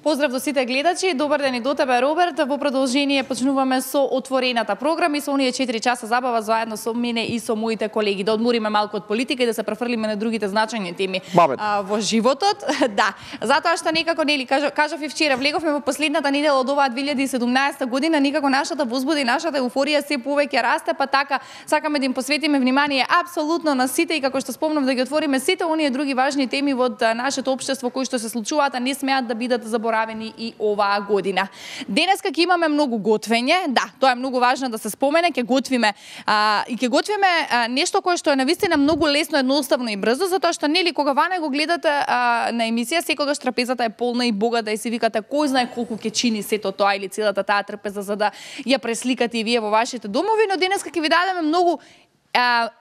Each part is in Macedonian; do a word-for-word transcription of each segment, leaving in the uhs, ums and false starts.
Поздрав до сите гледачи, добар ден и до тебе, Роберт. Во продолжение почнуваме со отворената програма и со оние четири часа забава заедно со мене и со моите колеги. Да одмориме малку од политика и да се префрлиме на другите значајни теми а, во животот. Да, затоа што некако, нели, кажав, кажав и вчера, влеговме во последната недела од оваа две илјади и седумнаесета година, некако нашата возбуда и нашата еуфорија се повеќе расте, па така сакаме да им посветиме внимание апсолутно на сите и како што спомнав да ги отвориме сите оние други важни теми во нашето општество кои што се случуваат, а не смеат да бидат заборавени и оваа година. Денеска ќе имаме многу готвење, да, тоа е многу важно да се спомене, ќе готвиме а, и ќе готвиме а, нешто кое што е навистина многу лесно, едноставно и брзо, затоа што нели кога ване го гледате а, на емисија, секогаш трапезата е полна и богата и си викате кој знае колку ќе чини сето тоа или целата таа трпеза за да ја пресликате и вие во вашите домови, но денеска ќе ви дадеме многу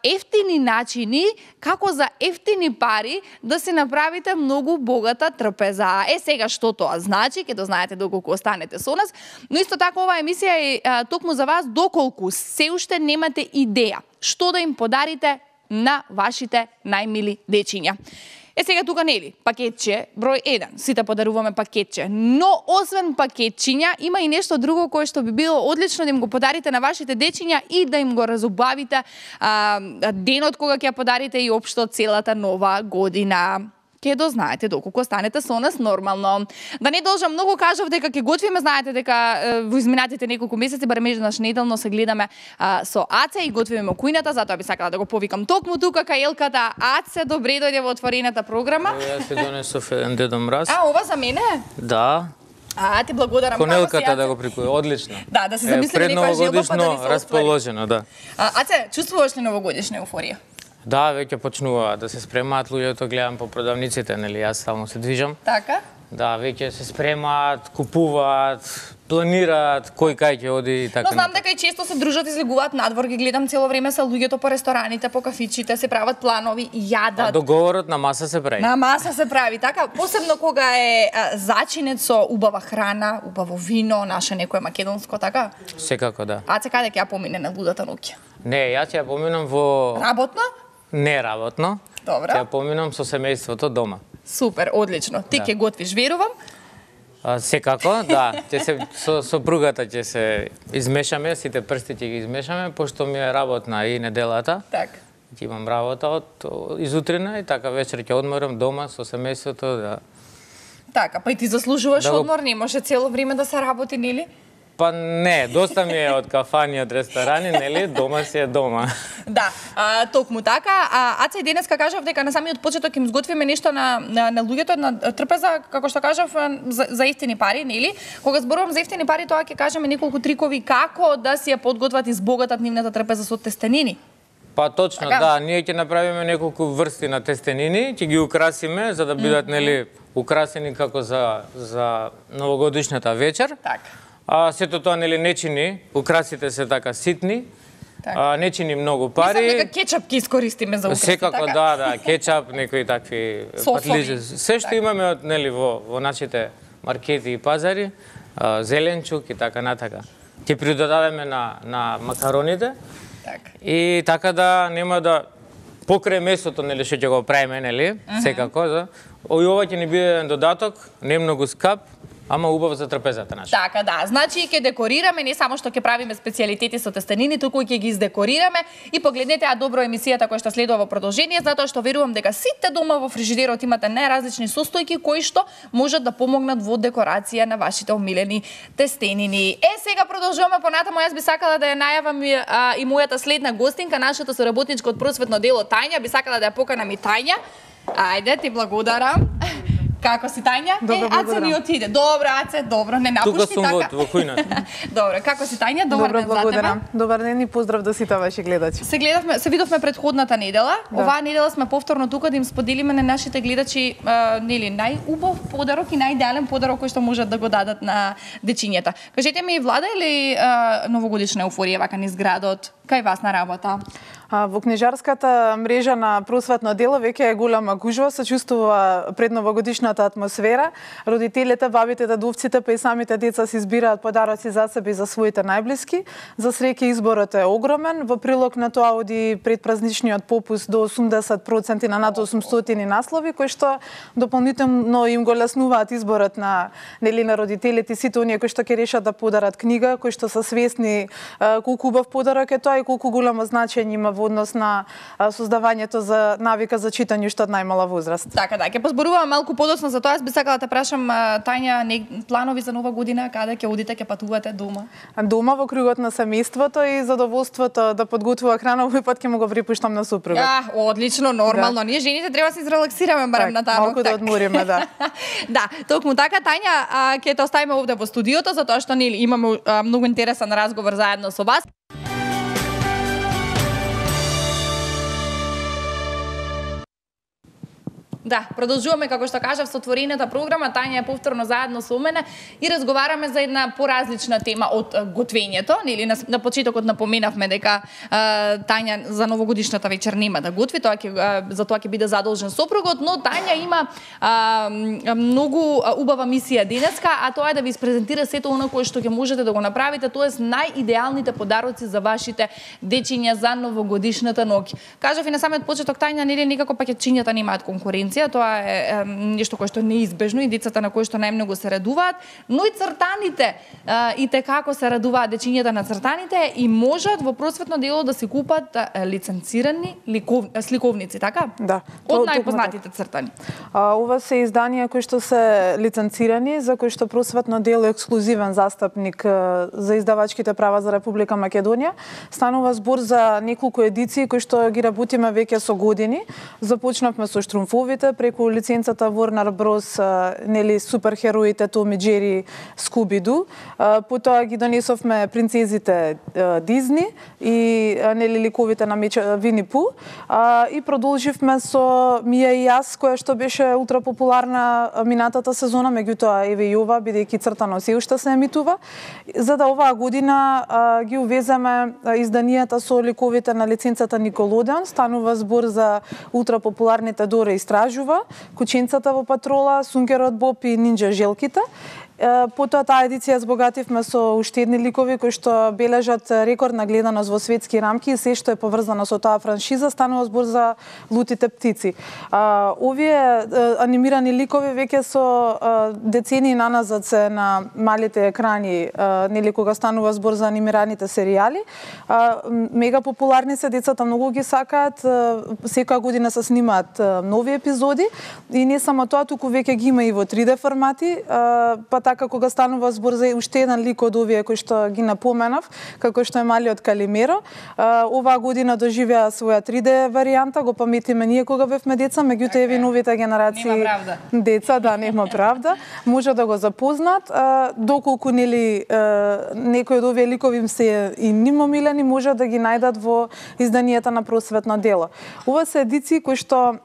ефтини начини како за ефтини пари да си направите многу богата трпеза. Е сега што тоа значи, ќе дознаете доколку останете со нас, но исто така оваа емисија е а, токму за вас доколку се уште немате идеја што да им подарите на вашите најмили дечиња. Е сега тука нели, пакетче број еден, сите подаруваме пакетче, но освен пакетчиња има и нешто друго кое што би било одлично да им го подарите на вашите дечиња и да им го разубавите а, денот кога ќе подарите и општо целата нова година. Ке дознаете доколку станете со нас нормално. Да не должам многу, кажав дека ќе готвиме, знаете дека е, во изминатите неколку месеци барем еднаш неделно се гледаме а, со Аце и готвиме кујната, затоа би сакала да го повикам токму тука кај Елката. Аце, добре дојде во отворената програма. Јас се донесов еден Дедо Мраз. А, ова за мене? Да. А, ти благодарам. Конелката да го прикуи, одлично. Да, да се замислиме некоја желба па да ни се расположено, да. А, Аце, чувствуваш ли новогодишна еуфорија? Да, веќе почнува да се спремаат луѓето, гледам по продавниците, нели, јас стално се движам. Така? Да, веќе се спремаат, купуваат, планираат кој кај ќе оди и така. Но знам дека и често се дружат, излегуваат надвор, ги гледам цело време се луѓето по рестораните, по кафичите, се прават планови, јадат. А договорот на маса се прави. На маса се прави, така, посебно кога е а, зачинет со убава храна, убаво вино, наше некое македонско, така? Секако, да. А се каде ќе ја помине на лудата ноќ? Не, јас ќе ја поминам во... Работно? Не работно. Добра. Ќе ја поминам со семејството дома. Супер, одлично. Ти ќе да. готвиш, верувам? А, секако, да. Ќе се со сопругата ќе се измешаме, сите прсти ќе ги измешаме, пошто ми е работна и неделата. Така. Ќе имам работа од изутрина и така вечер ќе одморам дома со семејството, да. Така, па и ти заслужуваш да го... одмор, не може цело време да се работи, нели? Па не, доста ми е од кафани, од ресторани, нели, дома си е дома. Да, а, токму така. А, Аца и денеска кажав дека на самиот почеток им сготвиме нешто на, на, на луѓето, на трпеза, како што кажав, за, за ефтини пари, нели? Кога зборувам за ефтини пари, тоа ќе кажеме неколку трикови како да си ја подготват и збогатат нивната трпеза со тестенини. Па точно, така? Да, ние ќе направиме неколку врсти на тестенини, ќе ги украсиме за да бидат, mm -hmm. нели, украсени како за, за новогодишната вечер. Така. А сето тоа нели не чини, украсите се така ситни, така. А, не чини многу пари. Мислам дека кетчап ќе искористиме за украси, секако, така? да, да, кетчап, некои такви патлиџи. Се што така. Имаме од нели во во нашите маркети и пазари, а, зеленчук и така натака. Ќе придодадеме на на макароните. Така. И така да нема да покрај месото нели што ќе го правиме, нели, mm -hmm. секако за. Ој ова ќе ни биде еден додаток, не многу скап. Ама убаво за трпезата наша. Така, да. Значи ќе декорираме, не само што ќе правиме специјалитети со тестенини, туку ќе ги издекорираме и погледнете а добро емисијата која што следува во продолжение, затоа што верувам дека сите дома во фрижидерот имате најразлични состојки кои што можат да помогнат во декорација на вашите омилени тестенини. Е, сега продолжуваме понатаму, јас би сакала да ја најавам и, а, и мојата следна гостинка, нашата соработничка од просветно дело Тања, би сакала да ја поканам и Тања. Ајде, ти благодарам. Како си, Тања? Добро, е, Аце ми отиде. Добро, Аце, добро, не напушти така. Тука сум во, во кујната. Добро, како си, Тања? Добар Добро, ден за благодарам. тебе. Добар ден и поздрав до сите ваши гледачи. Се гледавме, се видовме претходната недела. Да. Оваа недела сме повторно тука да им споделиме на нашите гледачи а, нели најубав подарок и најидеален подарок кој што можат да го дадат на дечињата. Кажете ми, влада или а, новогодишна еуфорија вака низ градот? Кај вас на работа? Во книжарската мрежа на просветно дело веќе е голема гужва, се чувствува предновогодишната атмосфера. Родителите, бабите, дедовците, па и самите деца си избираат подароци за себе и за своите најблиски. За среќа изборот е огромен. Во прилог на тоа оди предпразничниот попуст до осумдесет проценти на над осумстотини наслови, кои што дополнително им го леснуваат изборот на нели на родителите, сите оние кои што ќе решат да подарат книга, кои што се свесни колку убав подарок е тоа и колку голямо значење има во однос на создавањето за навика за читање уште од најмала возраст. Така да, ќе позборуваме малку подоцна за тоа. Јас би сакала да те прашам, Тања, не, планови за нова година, каде ќе одите, ќе патувате дома? Дома во кругот на семејството и задоволството да подготвува храна, овој пат ќе му го припуштам на супругот. А, одлично, нормално. Да. Ние жените треба да се изрелаксираме барем на таа. Малку да одмориме, да. Да, токму така, Тања, ќе те оставиме овде во студиото затоа што нели имаме а, многу интересен разговор заедно со вас. Да, продолжуваме, како што кажав, со отворената програма. Тања е повторно заедно со мене и разговараме за една поразлична тема од готвењето. Нели на, на почетокот напоменавме дека а, Тања за новогодишната вечер нема да готви, тоа ќе за тоа ќе биде задолжен сопругот, но Тања има а, многу убава мисија денеска, а тоа е да ви испрезентира сето оно кое што ќе можете да го направите, тоест најидеалните подароци за вашите дечиња за новогодишната ноќ. Кажав и на самиот почеток, Тања, нели некако пакетчињата немаат конкуренција. Тоа е, е нешто кое што е неизбежно и децата на кои што најмногу се радуваат, но и цртаните е, и те како се радуваат дечињата на цртаните и можат во просветно дело да се купат е, лиценцирани ликов, сликовници, така? Да. Од најпознатите цртани. А, ова се изданија кои што се лиценцирани, за кои што просветно дело е ексклузивен застапник е, за издавачките права за Република Македонија. Станува збор за неколку едиции кои што ги работиме веќе со години. Започнавме со Штрумфовите, преку лиценцата Warner Bros, нели суперхероите Том и Џери, Скуби-Ду. Потоа ги донесовме принцезите Дизни и нели ликовите на Вини Пу. И продолживме со Мија и јас, која што беше ултра популарна минатата сезона, меѓутоа еве и ова, бидејќи цртано се уште се емитува. За да оваа година ги увеземе изданијата со ликовите на лиценцата Николодеон. Станува збор за ултра популарните Дора истражува, Кученцата во патрола, Сунгерот Боб и Нинџа Желките. Потоа таа едиција збогативме со уште едни ликови кои што бележат рекордна гледаност во светски рамки и се што е поврзано со таа франшиза. Станува збор за Лутите птици. А, овие анимирани ликови веќе со децении наназад се на малите екрани, а, нели кога станува збор за анимираните серијали. А, мега популарни се, децата многу ги сакаат, секоја година се снимаат нови епизоди и не само тоа, туку веќе ги има и во три Д формати, а, па така кога станува збор за уште еден лик од овие кои што ги напоменав, како што е Малиот Калимеро, оваа година доживеа своја три Д варијанта, го паметиме ние кога бевме деца, меѓутоа еве новите генерации деца, да, нема правда, може да го запознаат, доколку нели некои од овие ликови им се и ним омилени, може да ги најдат во изданијата на просветно дело. Ова се едиции кои што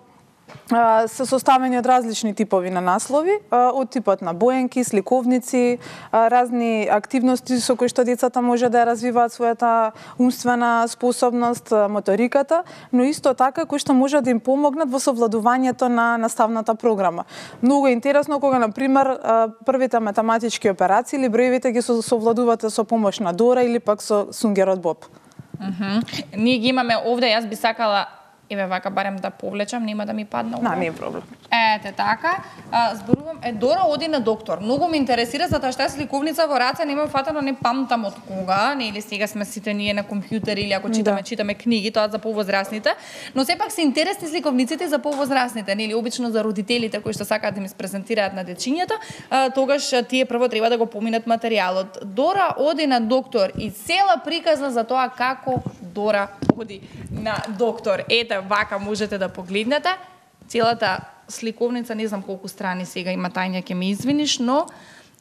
се составени од различни типови на наслови, од типот на боенки, сликовници, разни активности со кои што децата може да развиваат својата умствена способност, моториката, но исто така кои што може да им помогнат во совладувањето на наставната програма. Многу е интересно кога, на пример, првите математички операции или броевите ги совладувате со помош на Дора или пак со Сунгерот Боб. Mm-hmm. Ние ги имаме овде, јас би сакала еве вака барем да повлечам, нема да ми падне ова. Да, не е проблем. Ете така, а, зборувам, е Дора оди на доктор. Многу ме интересира затоа што јас ликовница во раце нема фатано, не памтам од кога, нели сега сме сите ние на компјутер или ако читаме, да. читаме книги, тоа за повозрасните, но сепак се интересни сликовниците за повозрасните, нели обично за родителите кои што сакаат да ми презентираат на дечињата, а, тогаш тие прво треба да го поминат материјалот. Дора оди на доктор и цела приказна за тоа како Дора оди на доктор. Ете, вака можете да погледнете. Целата сликовница, не знам колку страни сега има, Тања, ќе ме извиниш, но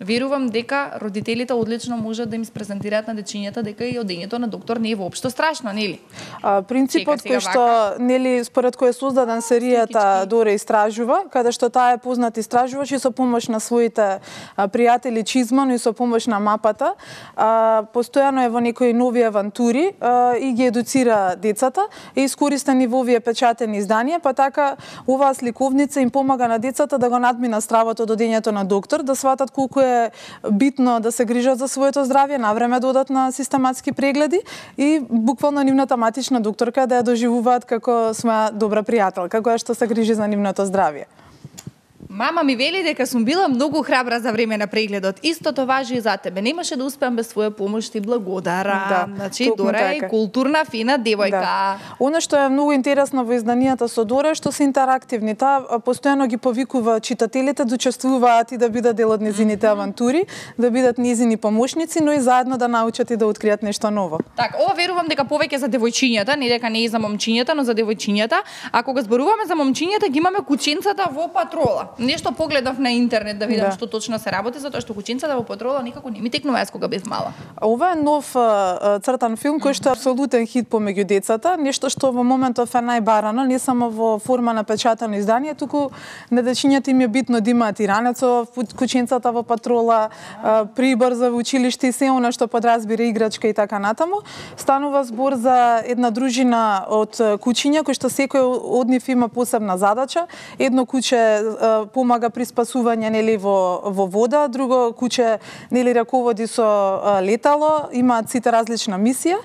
Верувам дека родителите одлично можат да им презентираат на дечињата дека и одењето на доктор не е воопшто страшно, нели? А, принципот кој што нели според кој е создаден серијата Дора истражува, каде што таа е познат истражувач и со помош на своите а, пријатели Чизман и со помош на мапата, а, постојано е во некои нови авантури а, и ги едуцира децата и искористени во овие печатени изданија, па така оваа сликовница им помага на децата да го надмина стравот од одењето на доктор, да сватат колку е битно да се грижат за своето здравје, навреме да одат на систематски прегледи и буквално нивната матична докторка да ја доживуваат како своја добра пријателка, која што се грижи за нивното здравје. Мама ми вели дека сум била многу храбра за време на прегледот. Истото важи и за тебе. Немаше да успеам без своја помош, ти благодарам. Да, значи, Дора е така. Културна, фина девојка. Да. Она што е многу интересно во изданијата со Дора е што се интерактивни. Таа постојано ги повикува читателите да учествуваат и да бидат дел од незините mm -hmm. авантури, да бидат незини помошници, но и заедно да научат и да откријат нешто ново. Так, ова верувам дека повеќе за девојчињата, не дека не е за момчињата, но за девојчињата. А кога зборуваме за момчињата, ги имаме кученцата во патрола. Нешто погледав на интернет да видам да. што точно се работи, затоа што кученцата во патрола никако не ми текнува јас кога бев мала. Ова е нов а, цртан филм кој што е апсолутен хит помеѓу децата, нешто што во моментов е најбарано, не само во форма на печатано издание, туку на дечињата им е битно да имаат и ранецо, кученцата во патрола, а, прибор за училиште и се она што подразбира играчка и така натаму. Станува збор за една дружина од кучиња кои што секој од нив има посебна задача. Едно куче а, помага при спасување нели во во вода, друго куче нели раководи со а, летало, имаат сите различна мисија.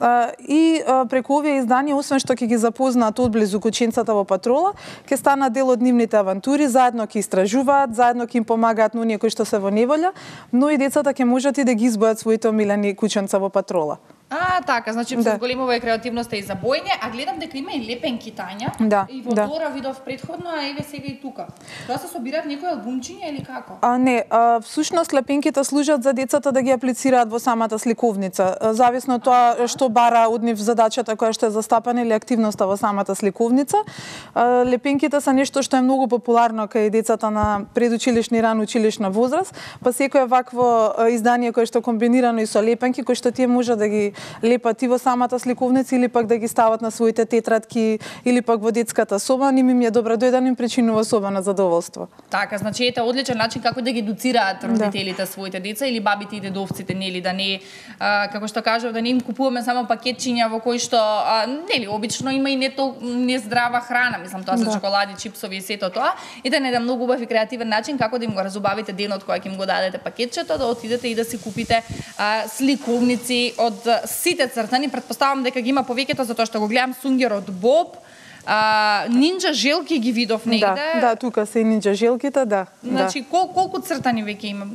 А, и а, преку овие изданија, освен што ќе ги запознаат одблизу кученцата во патрола, ќе станат дел од нивните авантури, заедно ќе истражуваат, заедно ќе им помагаат на оние кои што се во неволја, но и децата ќе можат и да ги избојат своите омилени кученца во патрола. А, така, значи да. се зголемува и креативноста и за бојње, а гледам дека има и лепенки Тања. Да, и во да. Дора видов претходно, а еве сега и тука. Тоа се собираат некои албумчиња или како? А не, а, всушност лепенките служат за децата да ги аплицираат во самата сликовница. Зависно од тоа што бара од нив задачата која што е застапена или активноста во самата сликовница. А, лепенките се нешто што е многу популарно кај децата на предучилишна и рано училишна возраст, па секој вакво издание кое што комбинирано и со лепенки, кои што тие може да ги лепат и во самата сликовница или пак да ги стават на своите тетрадки или пак во детската соба, ними ми е добро дојден им причинува особено задоволство. Така, значи ете одличен начин како да ги едуцираат родителите да. своите деца или бабите и дедовците, нели, да не а, како што кажав, да не им купуваме само пакетчиња во кои што а, нели обично има и не тол нездрава храна, мислам тоа се да. чоколади, чипсови и сето тоа, и да не да многу убав и креативен начин како да им го разубавите денот кога ќе им го дадете пакетчето, да отидете и да си купите а, сликовници од сите цртани, претпоставам дека ги има повеќето затоа што го гледам Сунгерот Боб, а, нинџа желки ги видов негде. Да, да, тука се нинџа желките, да. Значи да. кол, колку цртани веќе има?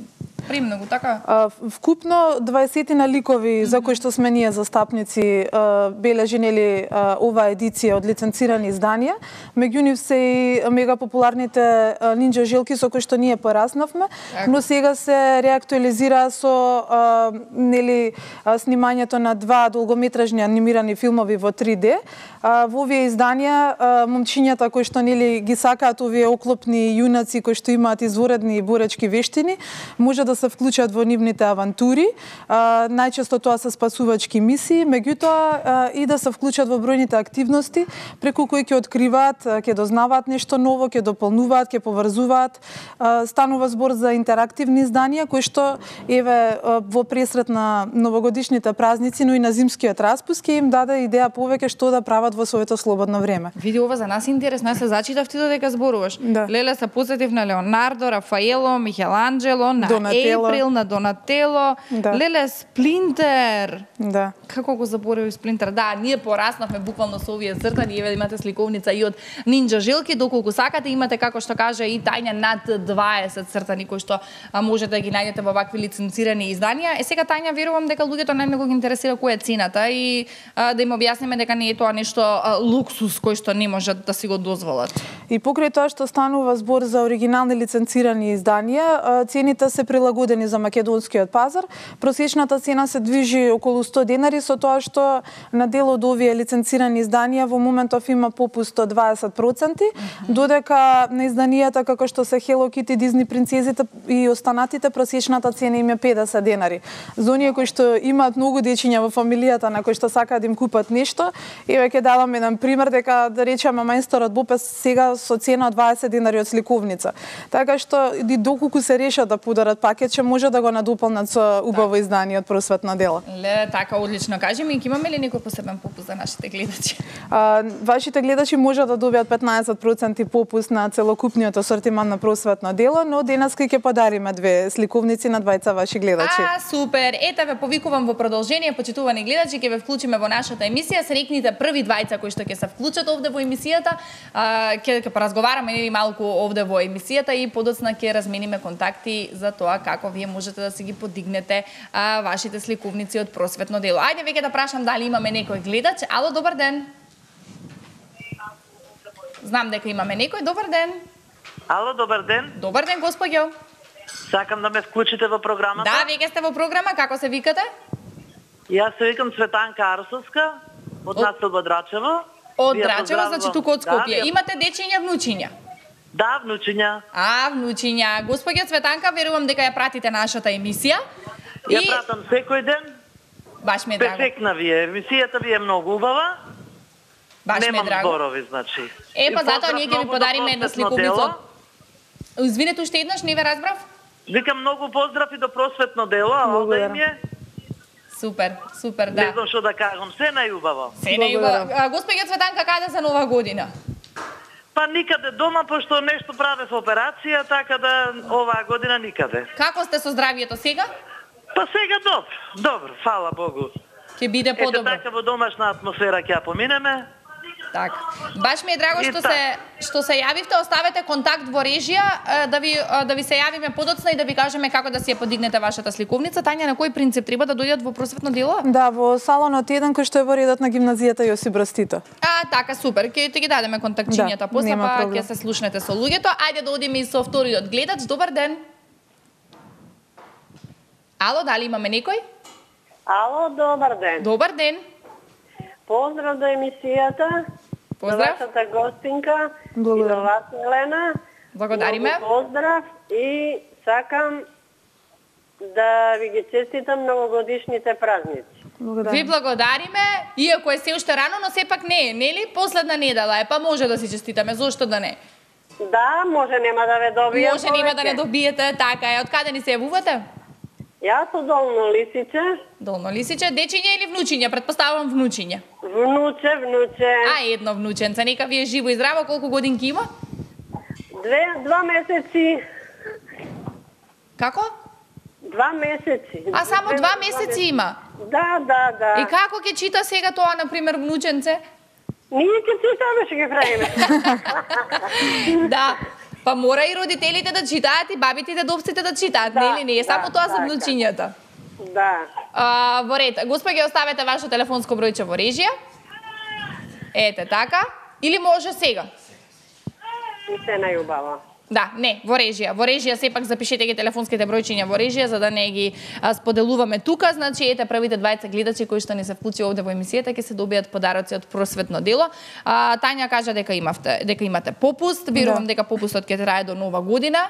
Премногу, така? А, вкупно дваесетина ликови mm -hmm. за кои што сме ние застапници бележи нели оваа едиција од лиценцирани изданија. Меѓу нив се и мега популарните нинџа желки со кои што ние пораснавме, okay. но сега се реактуализира со а, нели снимањето на два долгометражни анимирани филмови во три Д. А, во овие изданија момчињата кои што нели ги сакаат овие оклопни јунаци кои што имаат изворедни боречки вештини, може да се вклучат во нивните авантури. А, најчесто тоа се спасувачки мисии, меѓутоа и да се вклучат во бројните активности преку кои ќе откриваат, ќе дознаваат нешто ново, ќе дополнуваат, ќе поврзуваат. А, станува збор за интерактивни изданија кои што еве во пресрет на новогодишните празници, но и на зимскиот распуст ќе им даде идеја повеќе што да прават во своето слободно време. Види, ова за нас е интересно, јас се зачитав ти додека зборуваш. Да. Леле се посетив на Леонардо, Рафаело, Михеланджело, на Ейприл, на Донатело, да. Леле Сплинтер. Да. Како го заборев Сплинтер? Да, ние пораснавме буквално со овие цртани, еве имате сликовница и од нинџа желки, доколку сакате имате како што каже и Тања над дваесет цртани кои што а, можете да ги најдете во вакви лиценцирани изданија. Е сега Тања верувам дека луѓето најмногу ги интересира која е цената и а, да им објасниме дека не е тоа нешто а, луксус кој што не можат да си го дозволат. И покрај тоа што станува збор за оригинални лиценцирани изданија, цените се прилагодуваат прилагодени за македонскиот пазар. Просечната цена се движи околу сто денари, со тоа што на дел од овие лиценцирани изданија во моментов има попуст од дваесет проценти, mm-hmm. додека на изданијата како што се Hello Kitty, Disney принцезите и останатите просечната цена им е педесет денари. За оние кои што имаат многу дечиња во фамилијата на кои што сакаат да им купат нешто, еве ќе давам еден пример дека да речеме мајсторот Бопес сега со цена од дваесет денари од сликовница. Така што и доколку се решат да подарат пакетче, може да го надополнат со убаво издание од просветно дело. Ле, така одлично. Кажи ми, имаме ли некој посебен попуст за нашите гледачи? А, вашите гледачи може да добијат петнаесет проценти попуст на целокупниот асортиман на просветно дело, но денес ќе подариме две сликовници на двајца ваши гледачи. А, супер! Ете ве повикувам во продолжение, почитувани гледачи, ќе ве вклучиме во нашата емисија. Срекните први двајца кои што ќе се вклучат овде во емисијата. Ќе ќе поразговараме нели малку овде во емисијата и подоцна ќе размениме контакти за тоа како вие можете да си ги подигнете а, вашите сликовници од просветно дело. Ајде веќе да прашам дали имаме некој гледач. Ало, добар ден. Знам дека имаме некој. Добар ден. Ало, добар ден. Добар ден, господјо. Сакам да ме вклучите во програмата. Да, веќе сте во програма. Како се викате? Јас се викам Цветанка Арсовска, од населба Драчево. Од Драчево, значи туку од Скопје. Да, имате дечиња, внучиња? Да, внучиња. А, внучиња. Господја Цветанка, верувам дека ја пратите нашата емисија. Ја и... пратам секој ден. Баш ме драго. Перфектна ви е. Емисијата ви е многу убава. Баш Немам ме драго. зборови, значи. Е, па затоа ние ќе ви подариме една сликовница. Извинете, уште еднаш, не ве разбрав? Викам многу поздрав и до просветно дело, а овде им е. Супер, супер, да. Не знам што да кажам, се најубаво. Се најубаво. Господја Цветанка, каде за Нова година? Па никаде дома, пошто нешто правев операција, така да оваа година никаде. Како сте со здравието сега? Па сега добро, добро, фала Богу. Ќе биде подобро. Ете така во домашна атмосфера ќе ја поминеме. Така. Баш ми е драго што се што се јавивте, оставете контакт во режија да ви да ви се јавиме подоцна и да ви кажеме како да си ја подигнете вашата сликовница. Тања, на кој принцип треба да дојдат во просветно дело? Да, во салонот еден кој што е во редот на гимназијата Јосип Брз Тито. А, така, супер. Ќе ги дадеме контактчињата да, после, па ќе се слушнете со луѓето. Ајде да одиме и со вториот гледач. Добар ден. Ало, дали имаме некој? Ало, добар ден. Добар ден. Поздрав до емисијата. Поздрав. За вашата гостинка. Благодарам. И до вас, Елена. Благодариме. Много поздрав и сакам да ви ги честитам новогодишните празници. Благодарам. Ви благодариме, иако е се уште рано, но сепак не е, нели? Последна недела е, па може да си честитаме, зошто да не? Да, може нема да ве добијам. Може нема да не добиете, така е. Од каде ни се јавувате? Јас од Долно Лисиче. Долно Лисиче, дечиња или внучиња? Предпоставувам внучиња. Внуче, внуче. А, едно внученце, нека ви е живо и здраво, колку годинки има? Две, два месеци. Како? Два месеци. А само Две, два месеци има? Да, да, да. И како ќе чита сега тоа, например, внученце? Ние ќе читаме, ќе ги правиме. Да. Па мора и родителите да читаат и бабите и дедовците да читаат, да, нели? Не е само да, тоа за така. внучињата. Да. А, во ред, господја, оставете ваше телефонско бројче во режија. Ете така. Или може сега? И се најубаво. Да, не, во режија. Во режија сепак запишете ги телефонските бројчиња во режија за да не ги а, споделуваме тука. Значи, ете првите двајца гледачи кои што не се вклучи овде во емисијата ќе се добијат подароци од просветно дело. А, Тања кажа дека имавте, дека имате попуст. Верувам да. дека попустот ќе трае до Нова година.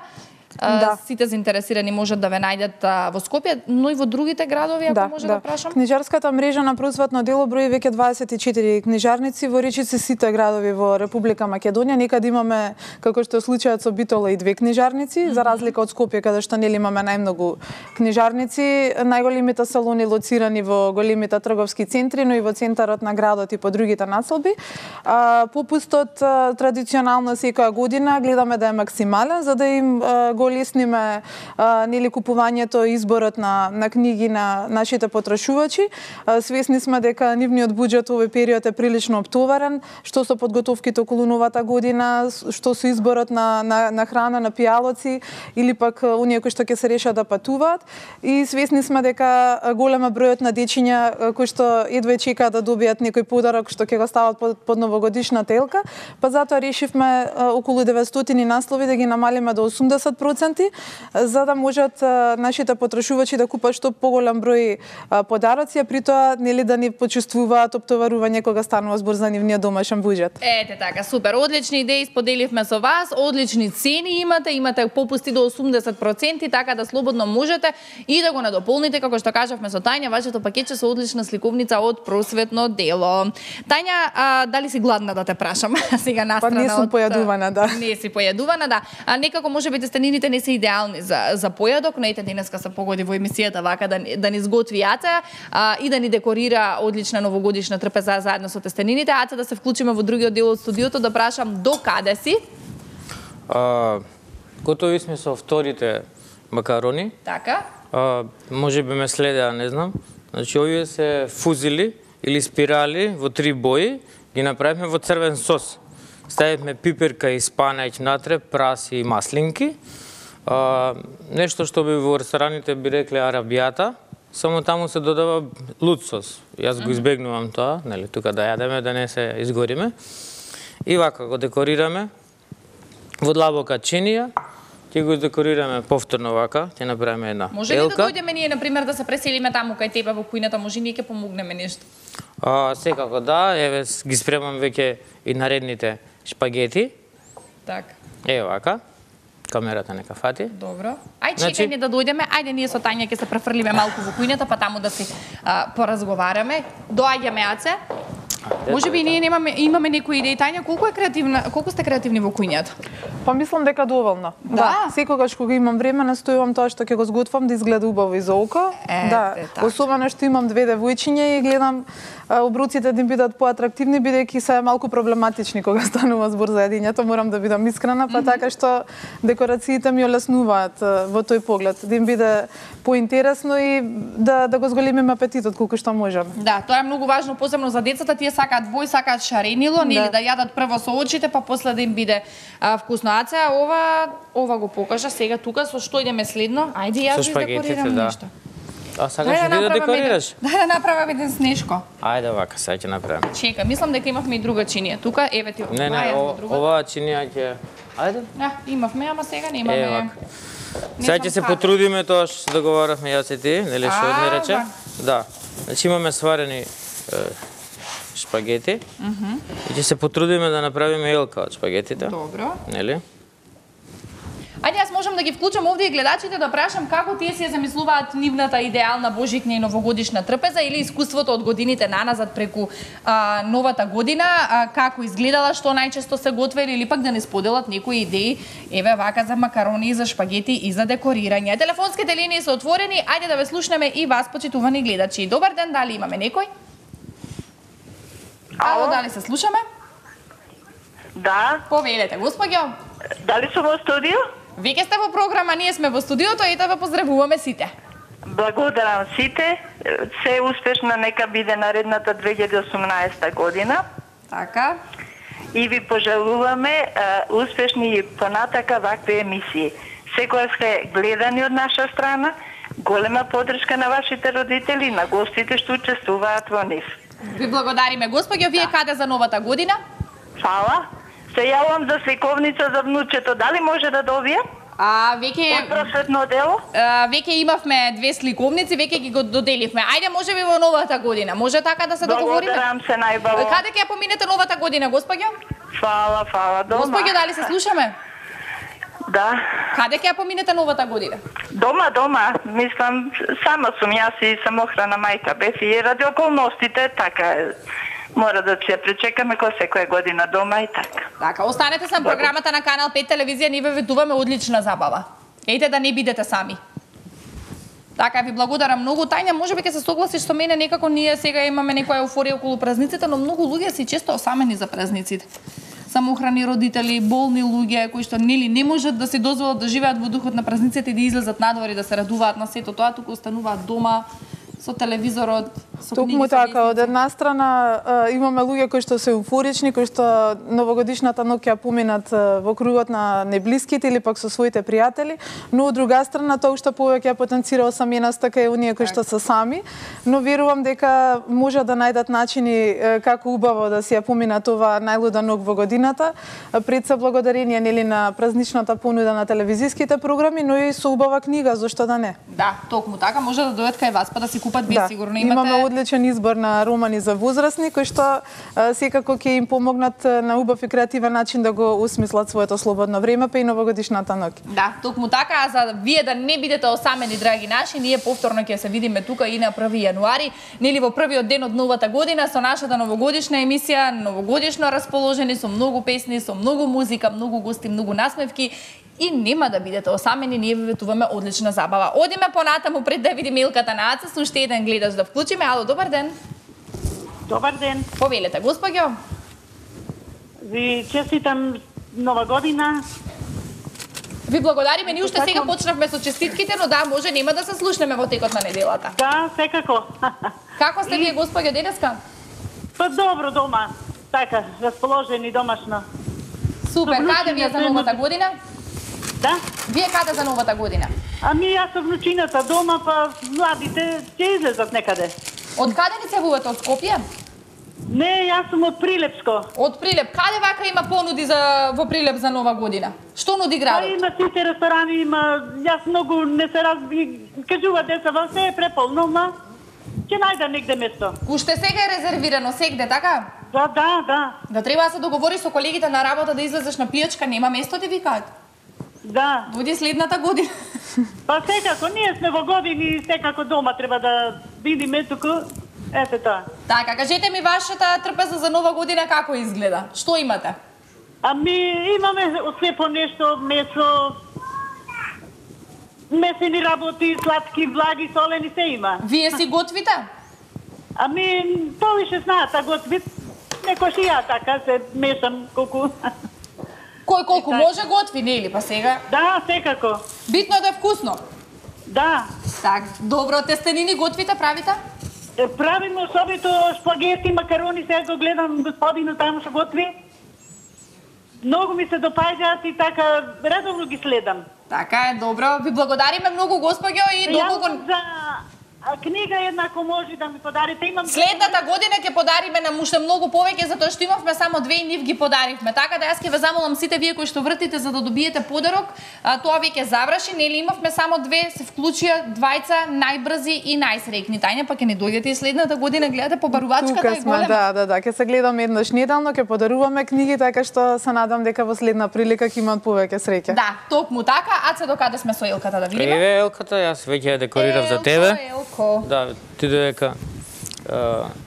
А, да. Сите заинтересирани можат да ве најдат а, во Скопје, но и во другите градови, ако да, може да. да прашам. Книжарската мрежа на просветно дело брои веќе дваесет и четири книжарници во речиси сите градови во Република Македонија. Некаде имаме, како што е случајот со Битола, и две книжарници, mm -hmm. за разлика од Скопје, каде што нели имаме најмногу книжарници. Најголемите салони лоцирани во големите трговски центри, но и во центарот на градот и по другите населби. А, попустот а, традиционално секоја година гледаме да е максимален, за да им а, го лесниме а, нели купувањето и изборот на на книги на нашите потрошувачи. А, свесни сме дека нивниот буџет овој период е прилично оптоварен, што со подготовките околу новата година, што со изборот на на, на храна, на пијалоци или пак оние кои што ќе се решат да патуваат. И свесни сме дека голема бројот на дечиња кои што едва чекаат да добијат некој подарок што ќе го стават под, под новогодишната елка, па затоа решивме околу деветстотини наслови да ги намалиме до осумдесет проценти проценти, за да можат нашите потрошувачи да купат што поголем број подароци, а при тоа нели да ни почувствуваат оптоварување кога станува збор за нивниот домашен буџет. Ете така, супер, одлични идеи споделивме со вас, одлични цени имате, имате попусти до осумдесет проценти, така да слободно можете и да го надополните, како што кажавме со Тања, вашето пакетче со одлична сликовница од просветно дело. Тања, а, дали си гладна да те прашам? Сега настрана. Па не сум појадувана, да. Не си појадувана, да. А некако можеби тестенините не се идеални за за појадок, но ете денеска се погоди во емисијата вака да да ни сготви Аца а, и да ни декорира одлична новогодишна трпеза заедно со тестенините. Аца, да се вклучиме во другиот дел од студиото, да прашам до каде си? А, готови сме со вторите макарони. Така. А, може би ме следеа, не знам. Значи, овие се фузили или спирали во три бои, ги направивме во црвен сос. Ставивме пиперка и спанајќ натре, праси и маслинки. А, нешто што би во рестораните би рекле арабијата, само таму се додава луд сос. Јас го избегнувам тоа, нели, тука да јадеме, да не се изгориме. И вака го декорираме во длабока чинија. Ќе го декорираме повторно вака, ќе направиме една елка. Може ли да дојдеме ние, например, да се преселиме таму кај тебе во кујната, може ние ќе помогнеме нешто? А, секако да, еве ги спремам веќе и наредните шпагети. Така. Е вака. Камерата нека фати. Добро. Ај Значи... чекај ни да дојдеме. Ајде ние со Тања ќе се префрлиме малку во кујната, па таму да си а, поразговараме. Доаѓаме, Аце. Може би ние немаме имаме некои идеи. Тања, колку е креативна, колку сте креативни во кујњата? Па мислам дека доволно. Да. да. Секогаш кога имам време настојувам тоа што ќе го сготвам да изгледа убаво и за око. Е, да. е, така. Особено што имам две девојчиња и гледам обруците да им бидат поатрактивни, бидејќи се малку проблематични кога станува збор за јадењето, морам да бидам искрена, па mm -hmm. така што декорациите ми олеснуваат во тој поглед, да им биде поинтересно и да да го зголемиме апетитот колку што можеме. Да, тоа е многу важно, посебно за децата, тие сакаат бој, сакаат шаренило, нели, да. да јадат прво со очите, па после да им биде а, вкусно. Аце, ова ова го покажа сега тука со што идеме следно. Ајде јас да декорирам да. нешто. А сакаш да, да декорираш? Да, да направам еден снешко. Ајде вака, сега ќе направиме. Чека, мислам дека имавме и друга чинија. Тука, еве ти. Не, не, о, оваа чинија ќе... Ајде. Да, имавме, ама сега немаме. Е, вака. Сега ќе се потрудиме тоа што договаравме јас и ти, нели што ми рече? Да. Значи имаме сварени е, шпагети. Mm -hmm. И ќе се потрудиме да направиме елка од шпагетите. Добро. Нели? Ајде, јас можам да ги вклучам овде и гледачите да прашам како тие си ја замислуваат нивната идеална божикна и новогодишна трпеза или искуството од годините наназад преку а, новата година, а, како изгледала, што најчесто се готвели или пак да не споделат некои идеи, еве вака за макарони, за шпагети и за декорирање. Телефонските линии се отворени, ајде да ве слушнеме и вас, почитувани гледачи. Добар ден, дали имаме некој? Ало, дали се слушаме? Да. Повелете, господјо. Дали сум во студио? Веќе сте во програма, ние сме во студиото и да ве поздравуваме сите. Благодарам сите. Се успешна нека биде наредната две илјади и осумнаесета година. Така. И ви пожелуваме а, успешни и понатака вакви емисии. Секојаш сте гледани од наша страна, голема поддршка на вашите родители, на гостите што учествуваат во нив. Ви благодариме, господјо. Вие да. Каде за новата година? Фала. Се јавам за сликовница за внучето. Дали може да добијам? А, веќе... Од просветно дело? А, веќе имавме две сликовници, веќе ги го доделивме. Ајде, може би во новата година. Може така да се договориме? Благодарам се најбаво. Каде ќе ја поминете новата година, господјо? Фала, фала. Дома. Господјо, дали се слушаме? Да. Каде ќе ја поминете новата година? Дома, дома. Мислам, сама сум јас и самохрана мајка бев и ради околностите, така е. Мора да се пречекаме кој секоја година дома и така. Така, останете со програмата на Канал пет телевизија, ние ве ветуваме одлична забава. Ејте да не бидете сами. Така, ви благодарам многу. Тања, можеби ќе се согласиш со мене, некако ние сега имаме некоја еуфорија околу празниците, но многу луѓе се често осамени за празниците. Самохрани родители, болни луѓе кои што нели не можат да се дозволат да живеат во духот на празниците и да излезат надвор и да се радуваат на сето тоа, туку остануваат дома со телевизорот, Токму така, од една страна имаме луѓе кои што се еуфорични, кои што новогодишната ноќ ја поминат во кругот на неблиските или пак со своите пријатели, но од друга страна тоа уште повеќе ја потенцира осаменоста кај оние кои што се сами, но верувам дека може да најдат начини како убаво да си ја поминат ова најлуда ноќ во годината, пред се благодарение нели на празничната понуда на телевизиските програми, но и со убава книга, зошто да не? Да, токму така, може да дојдат кај вас па да си купат, вие да, сигурно имате. Имаме одличен избор на романи за возрастни кои што а, секако ќе им помогнат на убав и креативен начин да го осмислат своето слободно време па и новогодишната ноќ. Да, токму така, а за вие да не бидете осамени, драги наши, ние повторно ќе се видиме тука и на први јануари, нели во првиот ден од новата година со нашата новогодишна емисија, новогодишно расположени со многу песни, со многу музика, многу гости, многу насмевки. И нема да бидете осамени, ние ви ветуваме одлична забава. Одиме понатаму пред да видиме илката на Аца, со уште еден гледач да вклучиме. Ало, добар ден. Добар ден. Повелете, госпоѓо. Ви честитам нова година. Ви благодариме, ни уште сега почнавме со честитките, но да, може нема да се слушнеме во текот на неделата. Да, секако. Како сте вие, госпоѓо, денеска? Па добро дома, така, расположени домашно. Супер, каде вие за новата година? Да? Вие каде за новата година? Ами јас со внучината дома, па младите ќе излезат некаде. Од каде ни се вувате, од Скопје? Не, јас сум од Прилепско. Од Прилеп. Каде вака има понуди за во Прилеп за нова година? Што нуди Па градот? има сите ресторани, има, јас многу не се разби, кажува деца, во се е преполно, ма ќе најда негде место. Уште сега е резервирано сегде, така? Да, да, да. Да треба да се договори со колегите на работа да излезеш на пијачка, нема место ти викаат. Да. Дојди следната година. Па секако, ние сме во години, секако дома треба да видиме туку. Ете тоа. Така, кажете ми вашата трпеза за нова година како изгледа? Што имате? Ами, имаме се по нешто, месо, месени работи, сладки, влаги, солени, се има. Вие си готвите? Ами, тоа више знаат, а готвит. Некош и ја така се мешам колку. Кој колку може готви, нели, па сега? Да, секако. Битно е да е вкусно. Да. Так, добро, тестенини готвите, правите? Е, правиме особито шпагети, макарони, сега го гледам господинот таму што готви. Многу ми се допаѓаат и така редовно ги следам. Така е, добро. Ви благодариме многу, госпоѓо, и долго го... За а, книга една, ако може да ми подарите, имам... Следната година ќе подариме на уште многу повеќе, затоа што имавме само две и нив ги подаривме. Така да јас ќе ве замолам сите вие кои што вртите за да добиете подарок, а, тоа веќе заврши, нели имавме само две, се вклучија двајца најбрзи и најсреќни. Тања, па ќе не дојдете и следната година, гледате по барувачката Тука и сме, голема. да, да, да, ќе се гледаме еднаш неделно, ќе подаруваме книги, така што се надам дека во следна прилика ќе имат повеќе среќа. Да, токму така. Аце до каде сме со Елката да видиме? Еве Елката, јас веќе ја декорирав за тебе. Елко. Да, ти додека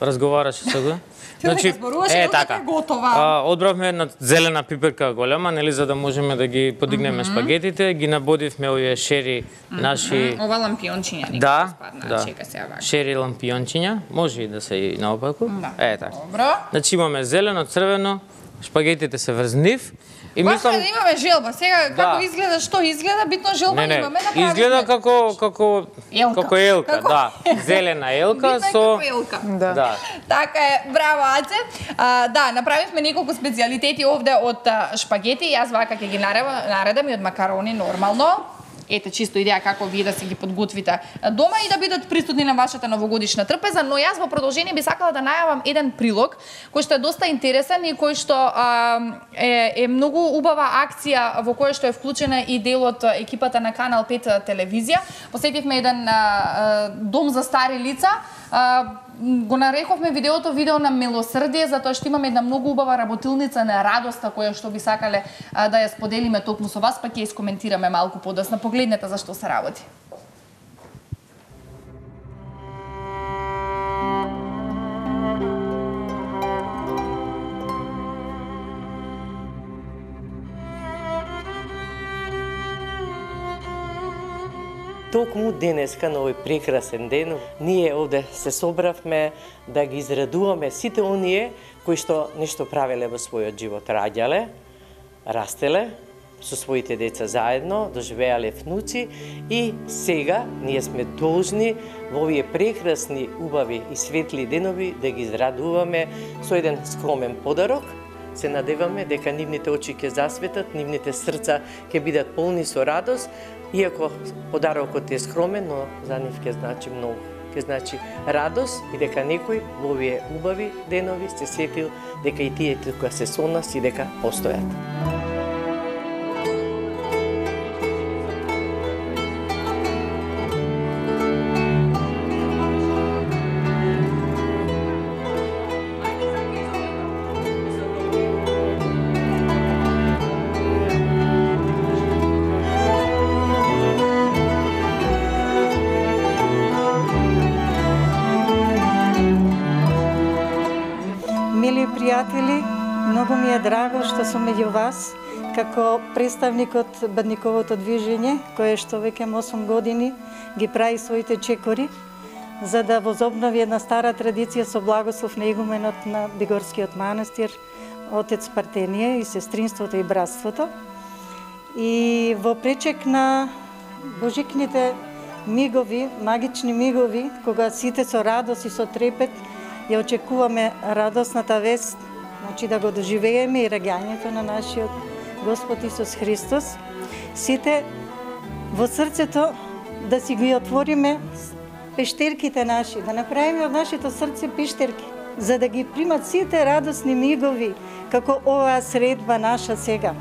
разговараше со го. Значи, е така. Готова. А, одбравме една зелена пиперка голема, нели, за да можеме да ги подигнеме mm -hmm. спагетите, ги набодивме овие шери mm -hmm. наши. Ова лампиончиња, да, спадна, да. Чека се вака. Шери лампиончиња, може и да се и наопаку. Да. Е така. Добро. Значи имаме зелено, црвено, шпагетите се врз нив. И мислам да имаме желба. Сега да. Како изгледа, што изгледа, битно желба не, не. имаме направи. Изгледа како како елка. како елка, како... да. Зелена елка со елка. Да. да. Така е, браво Аце. А, да, направивме неколку специјалитети овде од шпагети, јас вака ќе ги наредам и од макарони нормално. Ете, чисто идеја како вие да си ги подготвите дома и да бидат присутни на вашата новогодишна трпеза, но јас во продолжение би сакала да најавам еден прилог кој што е доста интересен и кој што а, е, е многу убава акција во која што е вклучена и дел од екипата на Канал пет телевизија. Посетивме еден а, дом за стари лица. А, го нарековме видеото видео на милосрдие, затоа што имаме една многу убава работилница на радоста која што би сакале а, да ја споделиме токму со вас, па ќе искоментираме малку подоцна. Погледнете за што се работи. Токму денеска, на овој прекрасен ден, ние овде се собравме да ги израдуваме сите оние кои што нешто правеле во својот живот, раѓале, растеле со своите деца заедно, доживеале внуци и сега ние сме должни во овие прекрасни, убави и светли денови да ги израдуваме со еден скромен подарок. Се надеваме дека нивните очи ќе засветат, нивните срца ќе бидат полни со радост, иако подарокот е скромен, но за нив ќе значи многу. Ќе значи радост и дека некој во овие убави денови се сетил дека и тие тука се со нас и дека постојат. Пријатели, многу ми е драго што сум меѓу вас како представник од Бадниковото движење, кое што веќе осум години ги прави своите чекори за да возобнови една стара традиција со благослов на игуменот на Бигорскиот манастир, отец Партенија и сестринството и братството. И во пречек на божикните мигови, магични мигови, кога сите со радост и со трепет ја очекуваме радосната вест, значи да го доживееме и раѓањето на нашиот Господ Исус Христос. Сите во срцето да си ги отвориме пештерките наши, да направиме од нашето срце пештерки, за да ги примат сите радосни мигови, како оваа средба наша сега,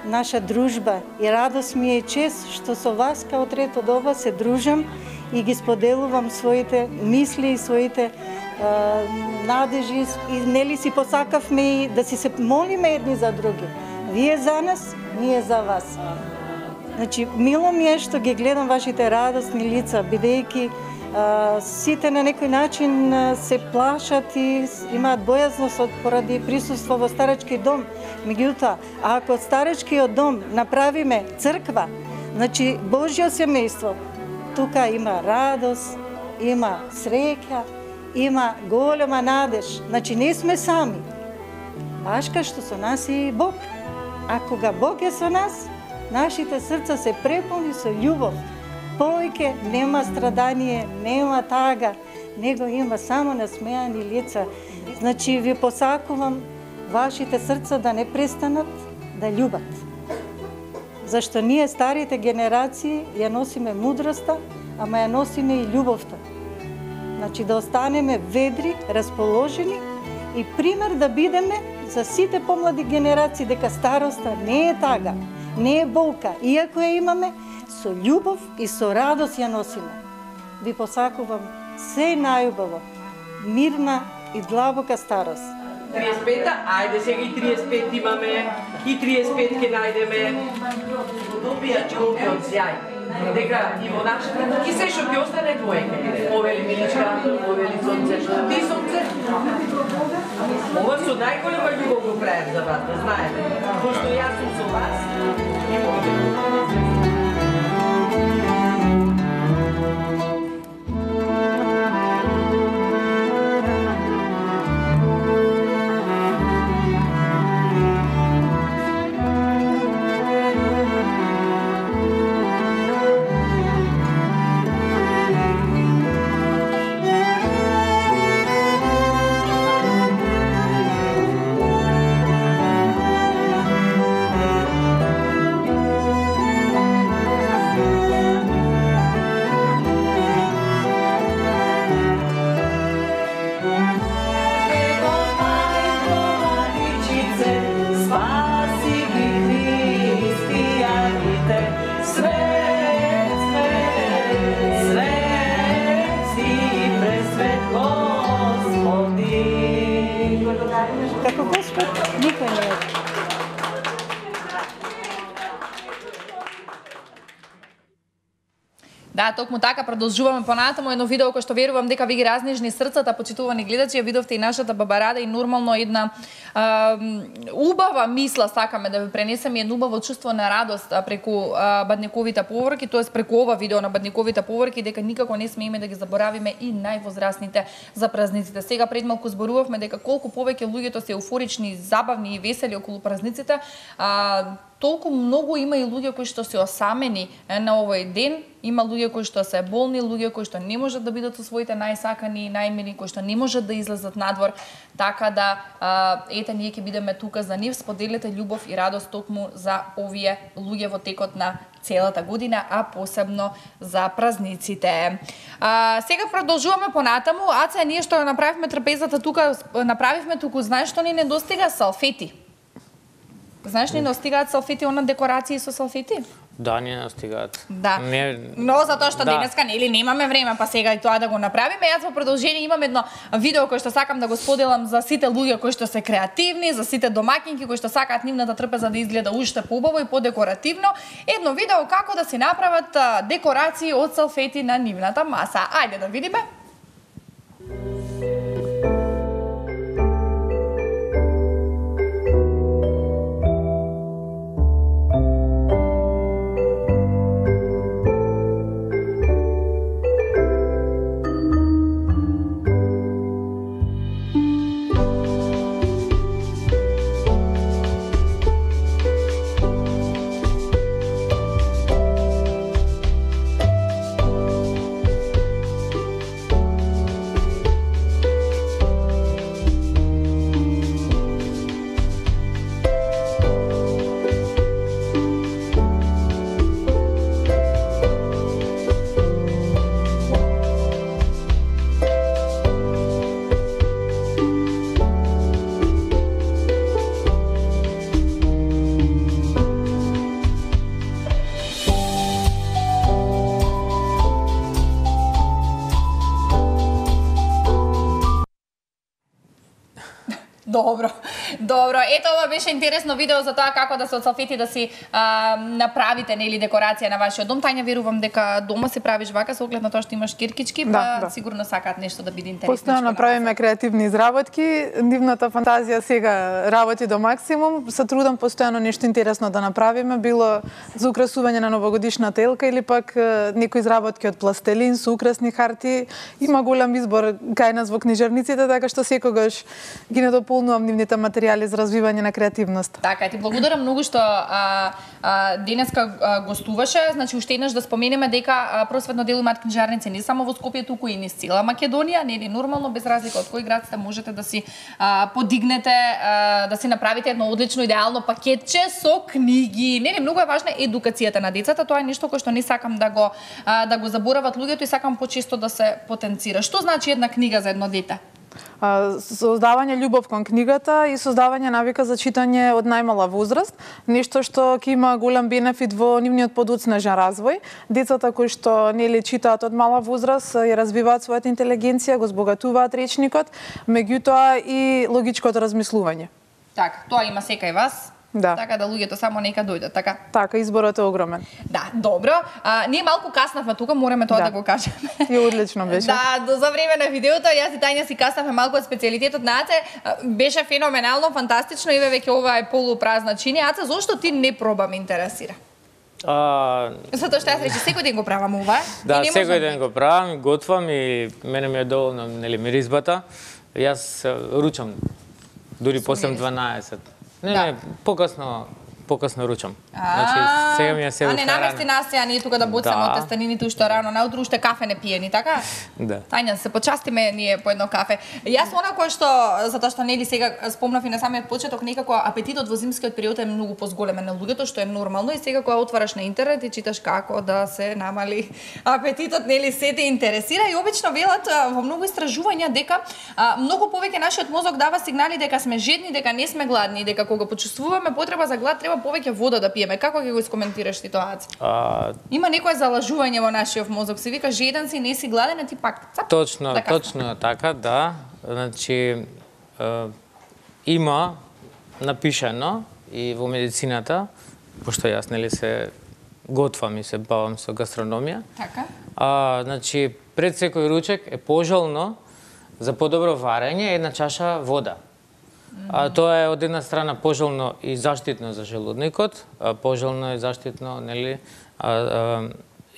наша дружба. И радост ми е чест што со вас као трето доба се дружам и ги споделувам своите мисли и своите а, надежи и нели си посакавме и да си се молиме едни за други. Вие за нас, ние за вас. Значи, мило ми е што ги гледам вашите радосни лица, бидејќи сите на некој начин а, се плашат и имаат бојазност од поради присуство во старечки дом. Меѓутоа, ако од старечкиот дом направиме црква, значи Божјо семејство, тука има радост, има среќа, има голема надеж. Значи не сме сами. Баш кај што со нас е и Бог. А кога Бог е со нас, нашите срца се преполни со љубов. Повеќе нема страдание, нема тага, него има само насмеани лица. Значи ви посакувам вашите срца да не престанат да љубат. Зашто ние старите генерации ја носиме мудроста, ама ја носиме и љубовта. Значи да останеме ведри, расположени и пример да бидеме за сите помлади генерации дека староста не е тага, не е болка, иако ја имаме, со љубов и со радост ја носиме. Ви посакувам се најубаво, мирна и длабока старост. триесет и пета, ајде сега и триесет и пет имаме, и триесет и пет ќе најдеме. Добија човекот сјај. Дека и во нашата, ки се што ќе остане двојка. Овели Миличка, овели Сонце, ти Сонце. Ова со најголема љубов го правим за вас, да знаете. Пошто јас сум со вас и моите. Како Господ, никој не е. Да, токму така продолжуваме понатаму едно видео кој што верувам дека ви ги разнежни срцата, почитувани гледачи, ја видовте и нашата баба Рада и нормално една а, убава мисла сакаме да ви пренесеме, едно убаво чувство на радост преку а, Бадниковите поворки, тоест преку ова видео на Бадниковите поворки, дека никако не смееме да ги заборавиме и највозрастните за празниците. Сега пред малку зборувавме дека колку повеќе луѓето се еуфорични, забавни и весели околу празниците, а, толку многу има и луѓе кои што се осамени на овој ден, има луѓе кои што се болни, луѓе кои што не можат да бидат со своите најсакани и најмили, кои што не можат да излезат надвор, така да а, ете ние ќе бидеме тука за нив, споделете љубов и радост токму за овие луѓе во текот на целата година, а посебно за празниците. А, сега продолжуваме понатаму. Аца, ние што направивме трапезата тука, направивме туку, знаеш што ни недостига? Салфети. Знаеш ни недостигаат салфети, она декорации со салфети? Да, не настигаат. Да. Не... Но затоа што да. денеска нели немаме време, па сега и тоа да го направиме. Јас во продолжение имам едно видео кој што сакам да го споделам за сите луѓе кои што се креативни, за сите домаќинки кои што сакаат нивната трпеза да изгледа уште поубаво и подекоративно. Едно видео како да си направат декорации од салфети на нивната маса. Ајде да видиме. Добро, добро. Ето ова беше интересно видео за тоа како да се од салфети да си а, направите нели декорација на вашиот дом. Тања, верувам дека дома се правиш вака со оглед на тоа што имаш киркички, па да, да. Сигурно сакаат нешто да биде интересно. Постојано правиме креативни изработки, нивната фантазија сега работи до максимум. Се трудам постојано нешто интересно да направиме, било за украсување на новогодишната елка или пак некои изработки од пластелин, со украсни харти. Има голем избор кај нас во книжарниците, така што секогаш ги недополнувам нивните материјали за развивање на креативност. Така, ти благодарам многу што а, а, денеска а, гостуваше. Значи, уште еднаш да споменеме дека а, просветно дело имаат книжарници не само во Скопје, туку и низ цела Македонија. Нели нормално, без разлика од кој град сте, можете да си а, подигнете, а, да си направите едно одлично идеално пакетче со книги. Нели многу е важна едукацијата на децата. Тоа е нешто кое што не сакам да го а, да го заборават луѓето и сакам почесто да се потенцира. Што значи една книга за едно дете? Создавање љубов кон книгата и создавање навика за читање од најмала возраст, нешто што ќе има голем бенефит во нивниот подоцнежен развој. Децата кои што нели читаат од мала возраст ја развиваат својата интелигенција, го збогатуваат речникот, меѓутоа и логичкото размислување. Така, тоа има секај вас. Да. Така да луѓето само нека дојдат, така? Така, изборот е огромен. Да, добро. А, ние малку каснавме тука, мораме тоа да, да го кажеме. И одлично беше. Да, до за време на видеото, јас и Тања си каснавме малку од специјалитетот на Аце. Беше феноменално, фантастично, и веќе ова е полупразна чинија. Аце, зошто ти не проба, ме интересира? А... Затоа што јас рече, секој ден го правам ова. Да, секој ден го правам, готвам и мене ми е доволно, нели, миризбата. Јас ручам, дури после дванаесет. Не, да. не, покасно, покасно ручам. Значи, сега ми е се А не намести нас сега ние тука да боцаме да. од тестенините уште рано, наутро уште кафе не пиени, така? Да. Тања, се почастиме ние по едно кафе. Јас она кое што, затоа што нели сега спомнав и на самиот почеток, некако апетитот во зимскиот период е многу позголемен на луѓето, што е нормално, и сега кога отвараш на интернет и читаш како да се намали апетитот, нели се те интересира, и обично велат во многу истражувања дека а, многу повеќе нашиот мозок дава сигнали дека сме жедни, дека не сме гладни, дека кога почувствуваме потреба за глад треба повеќе вода да пиеме. Како ќе го искоментираш ти тоа? А... Има некое залажување во нашиот мозок. Се вика жеден си, не си гладен, а ти пак цап. Точно, да точно така, да. Значи е, има напишано и во медицината, пошто јас нели се готвам и се бавам со гастрономија. Така. А, значи пред секој ручек е пожелно за подобро варење една чаша вода. А, тоа е од една страна пожелно и заштитно за желудникот, а, пожелно и заштитно, нели, а, а,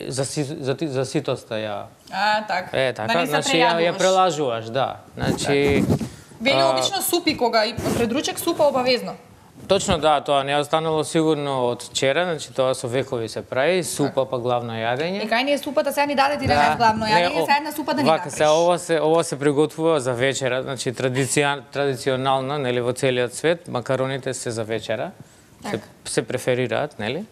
за, за, за ситоста ја. А, така. Е, така, да не се значи ја, ја прелажуваш, да. Значи Вели обично супи кога и пред ручек супа обавезно. Точно да, тоа не е останало сигурно од вчера, значи тоа со векови се прави, супа па главно јадење. И кај ни е супата, сега ни даде ти да не главно јадење, сега една супа да ни вака, направиш. Се, ова се ова се приготвува за вечера, значи традиција, традиционално, нели, во целиот свет, макароните се за вечера. Се, се преферираат, нели?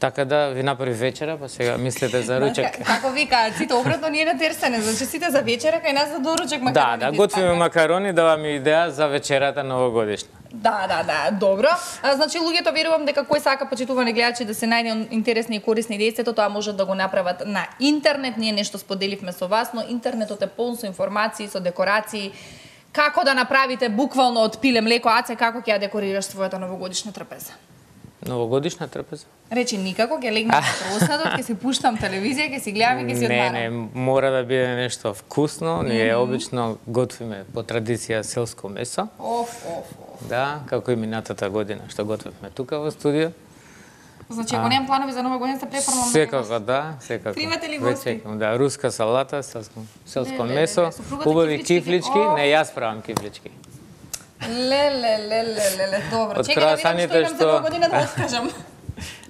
Така да ви направи вечера, па сега мислете за ручек. Како викаат, сите обратно ние на терсене, значи сите за вечера, кај нас за доручек макарони. Да, да, готвиме макарони, даваме идеја за вечерата новогодишна. Да, да, да, добро. А, значи луѓето верувам дека кој сака почитувани гледачи да се најде интересни и корисни идеи, тоа може да го направат на интернет. Ние нешто споделивме со вас, но интернетот е полн со информации, со декорации. Како да направите буквално од пиле млеко, Аце, како ќе ја декорираш својата новогодишна трпеза? Новогодишна трпеза? Речи никако, ќе легнам на просадот, ќе си пуштам телевизија, ќе си гледам и ќе си одмарам. Не, не, мора да биде нешто вкусно. Ние обично готвиме по традиција селско месо. Оф, оф, оф. Да, како и минатата година што готвевме тука во студио. Значи, ако немам планови за нова година, се препорвам. Секако, да, секако. Примате ли гости? Да, руска салата, селско, селско месо, убави кифлички. Не, јас правам кифлички. Леле, леле, леле, добро. Од Чекај да видам што имам што- за нова година да откажам.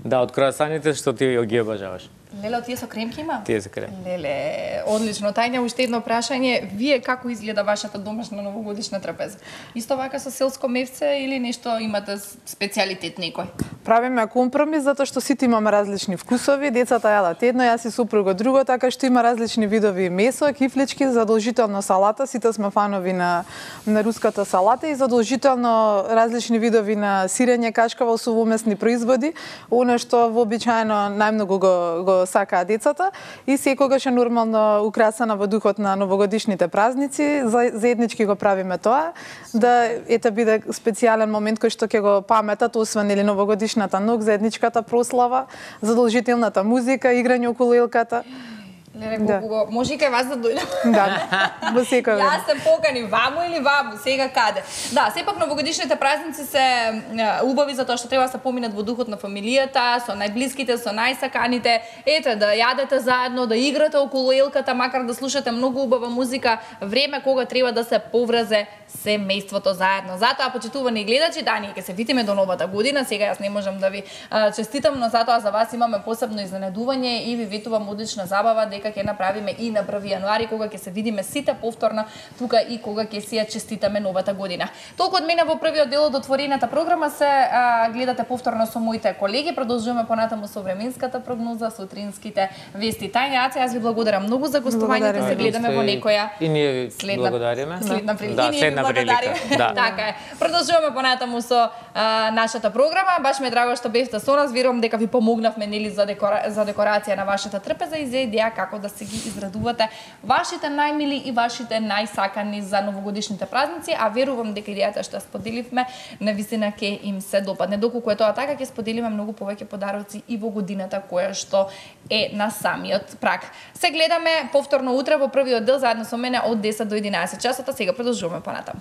Да, од круасаните што ти ги обожаваш. Леле, од тие со кремки има? Тие се крем. Леле, одлично. Тајна, уште едно прашање. Вие како изгледа вашата домашна новогодишна трапеза? Исто вака со селско мевце или нешто имате специјалитет некој? Правиме компромис затоа што сите имаме различни вкусови, децата јадат едно, јас и супругот друго, така што има различни видови месо, кифлички, задолжително салата, сите сме фанови на на руската салата и задолжително различни видови на сирење, качкава, сувомесни производи, она што вообичаено најмногу го, го сакаат децата и секогаш е нормално украсена во духот на новогодишните празници, за, заеднички го правиме тоа, да ете биде специјален момент кој што ќе го паметат, освен или новогодишната ног, заедничката прослава, задолжителната музика, играње околу елката. Леле, колку го... Може и кај вас да дојдам. Да, во секој ден. Јас се покани ваму или ваму, сега каде. Да, сепак новогодишните празници се е, убави затоа што треба да се поминат во духот на фамилијата, со најблиските, со најсаканите. Ете, да јадете заедно, да играте околу елката, макар да слушате многу убава музика, време кога треба да се повразе семејството заедно. Затоа, почитувани гледачи, да, ние ќе се видиме до новата година. Сега јас не можам да ви а, честитам, но затоа за вас имаме посебно изненадување и ви ветувам одлична забава дека ќе направиме и на први јануари, кога ќе се видиме сите повторно тука и кога ќе си ја честитаме новата година. Толку од мене во првиот дел од отворената програма се а, гледате повторно со моите колеги. Продолжуваме понатаму со временската прогноза, сутринските вести. Тајна, Аце, јас ви благодарам многу за гостувањето. Се гледаме во некоја и ние ви следна, благодариме. Следна прилика. Да, следна прилика. Да. Така е. Продолжуваме понатаму со а, нашата програма. Баш ме е драго што бевте со нас. Верувам дека ви помогнавме нели за декора... за декорација на вашата трпеза и за идеја како да се ги израдувате вашите најмили и вашите најсакани за новогодишните празници, а верувам дека идејата што споделивме навистина ќе им се допадне. Доколку е тоа така, ќе споделиме многу повеќе подароци и во годината која што е на самиот праг. Се гледаме повторно утре во првиот дел заедно со мене од десет до единаесет часот, а сега продолжуваме понатаму.